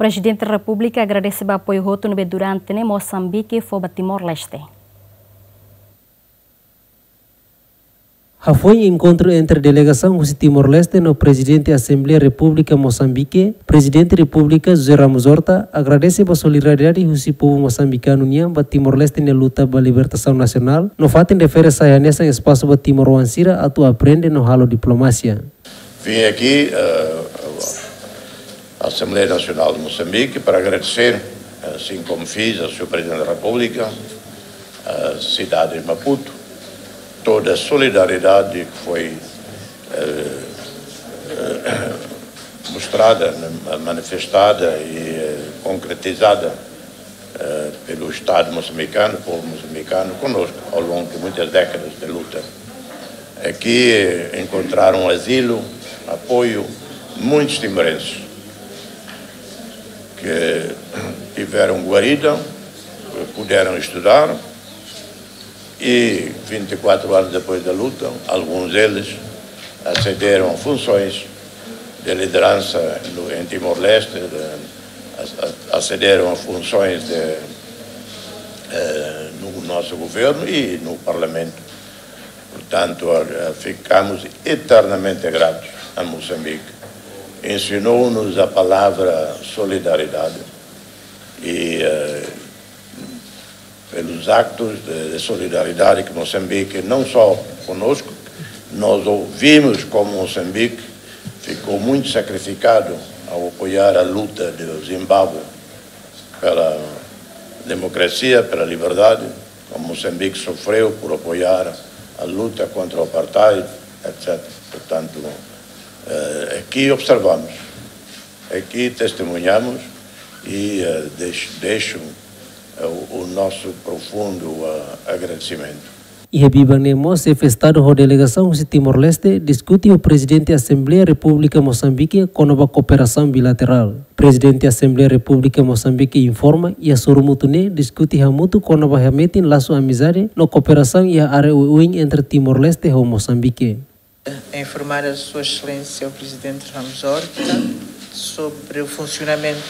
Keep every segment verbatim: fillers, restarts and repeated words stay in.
Prezidente Repúblika agradese ba apoiu hotu ne'ebé durante ne'e Mosambike fó ba Timor-Leste. Hafoin enkontru entre delegasaun husi Timor-Leste no Prezidente Asembleia Repúblika Mosambike, Prezidente Repúblika José Ramos Horta agradese ba solidariedade husi povu mosambikanu nian ba Timor-Leste nia luta ba libertasaun nasionál, no fatin refere sai hanesan espasu ba timoroan sira atu aprende no halo diplomasia. Vim aqui, eh, à Assembleia Nacional de Moçambique para agradecer, eh, assim como fiz ao senhor Presidente da República, a cidade de Maputo, toda a solidariedade que foi, eh, eh, mostrada, né, manifestada e, eh, concretizada, eh, pelo Estado moçambicano, povo moçambicano, conosco ao longo de muitas décadas de luta. Aqui encontraram asilo, apoio, muitos timorenses que tiveram guarida, puderam estudar e, vinte e quatro anos depois da luta, alguns deles acederam a funções de liderança no, em Timor-Leste, de, a, a, acederam a funções de, eh, no nosso governo e no Parlamento. Portanto, a, a, ficamos eternamente gratos a Moçambique. Ensinou-nos a palavra solidariedade e, eh, pelos actos de, de solidariedade que Moçambique, não só conosco, nós ouvimos como Moçambique ficou muito sacrificado ao apoiar a luta de Zimbábue pela democracia, pela liberdade, como Moçambique sofreu por apoiar a luta contra o apartheid, etcétera. Portanto, eh, aqui observamos, aqui testemunhamos e, eh, deix-, deixo, eh, o, o nosso profundo, eh, agradecimento. Iha biban ne'e mós, Xefe Estadu ho delegasaun husi Timor-Leste diskute ho Prezidente Asembleia Repúblika Mosambike kona-ba kooperasaun bilaterál. Prezidente Asembleia Repúblika Mosambike informa, iha sorumutu ne'e diskute hamutuk kona-ba hametin lasu amizade no kooperasaun iha área oioin entre Timor-Leste ho Mosambike. Informar a Sua Excelência o Presidente Ramos Horta sobre o funcionamento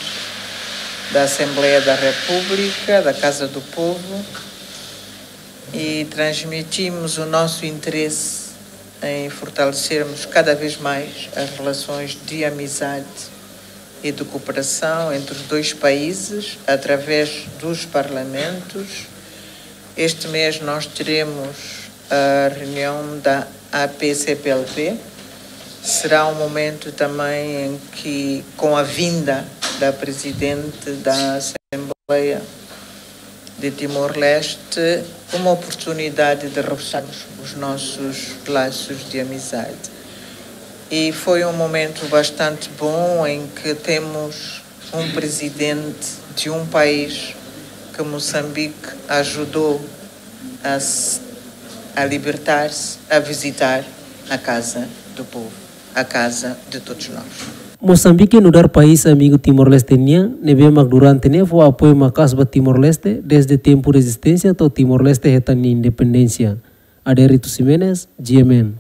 da Assembleia da República, da Casa do Povo, e transmitimos o nosso interesse em fortalecermos cada vez mais as relações de amizade e de cooperação entre os dois países através dos parlamentos. Este mês nós teremos a reunião da A P C P L P. Será um momento também em que, com a vinda da Presidente da Assembleia de Timor-Leste, uma oportunidade de reforçarmos os nossos laços de amizade. E foi um momento bastante bom em que temos um presidente de um país que Moçambique ajudou a se, a libertar-se, a visitar a Casa do Povo, a casa de todos nós. Mosambike nu'udar país amigu Timor-Leste nian, ne'ebé mak durante ne'e fó apoiu maka'as ba Timor-Leste, desde tempu rezisténsia to'o Timor-Leste hetan nia independénsia. Adérito Ximenes, G M N.